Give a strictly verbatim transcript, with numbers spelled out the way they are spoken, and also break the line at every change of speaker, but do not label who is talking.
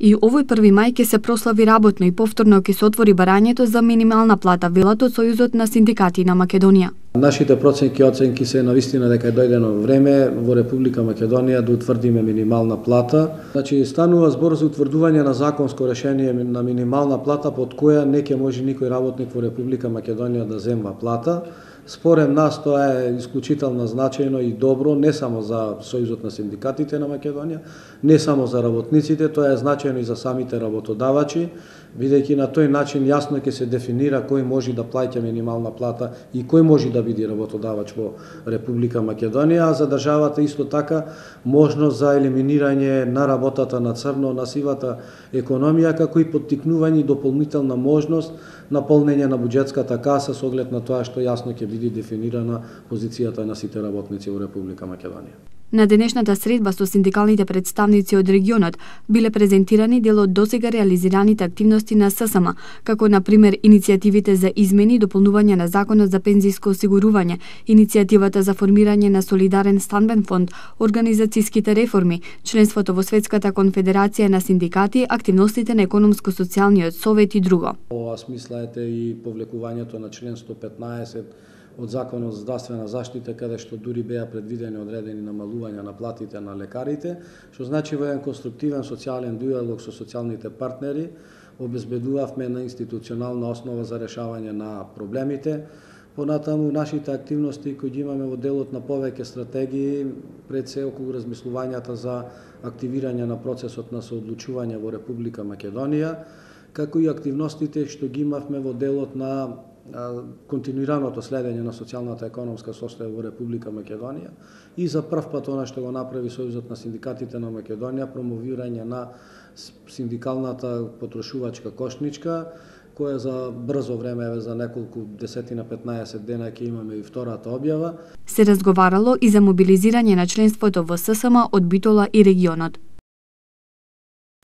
И овој први мај ќе се прослави работно и повторно ќе се отвори барањето за минимална плата, велат од Сојузот на синдикати на Македонија.
Нашите проценки и оценки се навистина дека е дојдено време во Република Македонија да утврдиме минимална плата. Значи станува збор за утврдување на законско решение на минимална плата под која не ќе може никој работник во Република Македонија да земва плата. Според нас тоа е исклучително значајно и добро не само за Сојузот на синдикатите на Македонија, не само за работниците, тоа е значајно и за самите работодавачи, бидејќи на тој начин јасно ќе се дефинира кој може да плаќа минимална плата и кој може да биде работодавач во Република Македонија, а за државата исто така можност за елиминирање на работата на црно, на сивата економија, како и поттикнување и дополнителна можност на полнење на буџетската каса со оглед на тоа што јасно ќе биде дефинирана позицијата на сите работници во Република Македонија.
На денешната средба со синдикалните представници од регионот биле презентирани дел од досега реализираните активности на ССМ, како на пример иницијативите за измени и дополнување на Законот за пензиско осигурување, иницијативата за формирање на солидарен стамбен фонд, организацијските реформи, членството во Светската конфедерација на синдикати, активностите на економско-социјалниот совет и друго.
Ова смислаете и повлекувањето на член сто петнаесет од Законот за здравствена заштита, каде што дури беа предвидени одредени намалувања на платите на лекарите, што значи во еден конструктивен социјален диалог со социјалните партнери обезбедувавме на институционална основа за решавање на проблемите. Понатаму нашите активности кои ги имаме во делот на повеќе стратегии, пред се околу размислувањата за активирање на процесот на соодлучување во Република Македонија, како и активностите што ги имавме во делот на континуираното следење на социјалната економска состојба во Република Македонија и за прв пат она што го направи Сојузот на синдикатите на Македонија, промовирање на синдикалната потрошувачка кошничка, која за брзо време, за неколку десетина петнаесет дена ќе имаме и втората објава.
Се разговарало и за мобилизирање на членството во ССМ од Битола и регионот.